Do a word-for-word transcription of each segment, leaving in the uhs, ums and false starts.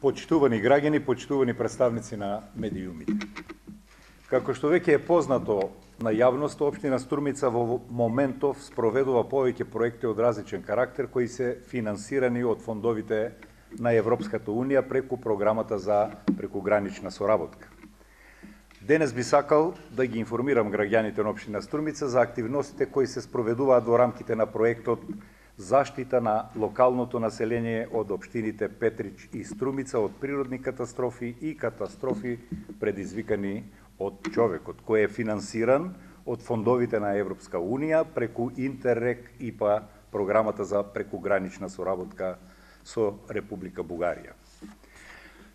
Почитувани граѓани, почитувани представници на медиумите. Како што веќе е познато на јавноста, општина Струмица во моментов спроведува повеќе проекти од различен карактер кои се финансирани од фондовите на Европската Унија преку програмата за прекугранична соработка. Денес би сакал да ги информирам граѓаните на општина Струмица за активностите кои се спроведуваат во рамките на проектот Заштита на локалното население од општините Петрич и Струмица од природни катастрофи и катастрофи предизвикани од човекот, кој е финансиран од фондовите на Европска Унија преку Интеррег ИПА, програмата за прекугранична соработка со Република Бугарија.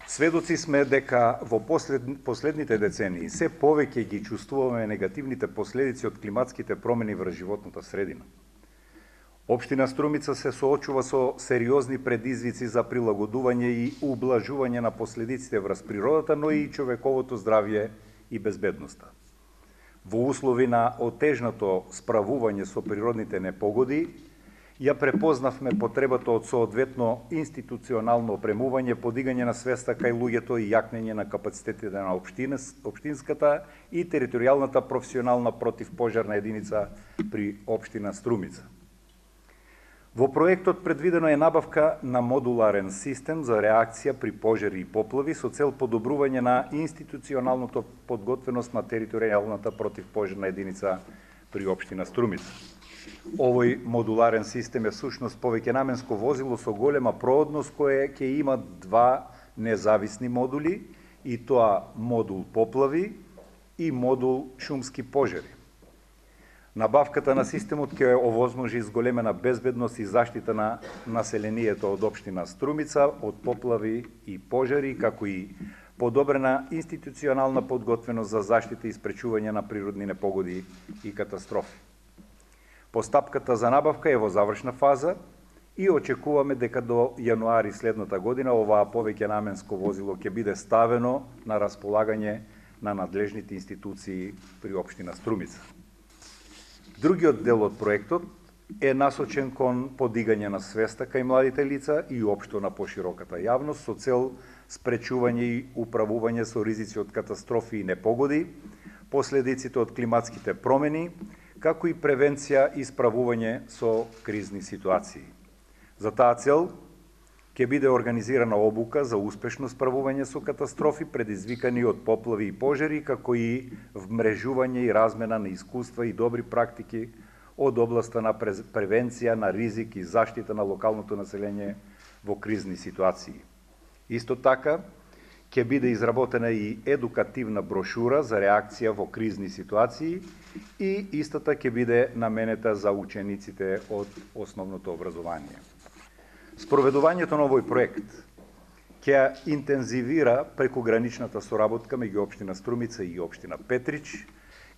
Сведоци сме дека во послед, последните децении се повеќе ги чувствуваме негативните последици од климатските промени врз животната средина. Општина Струмица се соочува со сериозни предизвици за прилагодување и ублажување на последиците врз природата, но и човековото здравје и безбедноста. Во услови на отежнато справување со природните непогоди, ја препознавме потребата од соодветно институционално опремување, подигање на свеста кај луѓето и јакнење на капацитетите на општина, општинската и територијалната професионална противпожарна единица при општина Струмица. Во проектот предвидено е набавка на модуларен систем за реакција при пожари и поплави со цел подобрување на институционалното подготвеност на територијалната противпожарна единица при општина Струмица. Овој модуларен систем е всушност повеќенаменско возило со голема проодност кое ќе има два независни модули, и тоа модул поплави и модул шумски пожари. Набавката на системот ќе овозможи зголемена безбедност и заштита на населението од општина Струмица од поплави и пожари, како и подобрена институционална подготвеност за заштита и спречување на природни непогоди и катастрофи. Постапката за набавка е во завршна фаза и очекуваме дека до јануари следната година оваа повеќенаменско возило ќе биде ставено на располагање на надлежните институции при општина Струмица. Другиот дел од проектот е насочен кон подигање на свеста кај младите лица и општо на пошироката јавност со цел спречување и управување со ризици од катастрофи и непогоди, последиците од климатските промени, како и превенција и справување со кризни ситуации. За таа цел ќе биде организирана обука за успешно справување со катастрофи предизвикани од поплави и пожари, како и вмрежување и размена на искуства и добри практики од областа на превенција на ризик и заштита на локалното население во кризни ситуации. Исто така, ќе биде изработена и едукативна брошура за реакција во кризни ситуации и истата ќе биде наменета за учениците од основното образование. Спроведувањето на овој проект ќе интензивира прекуграничната соработка меѓу општина Струмица и општина Петрич,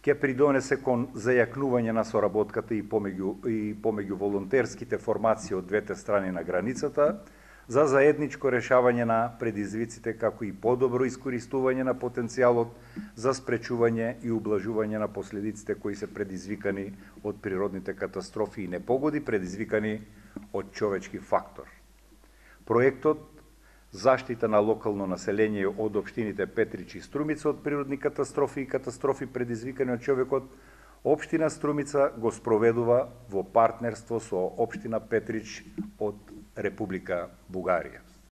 ќе придонесе кон зајакнување на соработката и помеѓу, и помеѓу волонтерските формации од двете страни на границата, за заедничко решавање на предизвиците, како и подобро искористување на потенцијалот за спречување и ублажување на последиците кои се предизвикани од природните катастрофи и непогоди, предизвикани од човечки фактор. Проектот Заштита на локално население од општините Петрич и Струмица од природни катастрофи и катастрофи предизвикани од човекот, општина Струмица го спроведува во партнерство со општина Петрич од Република Бугарија.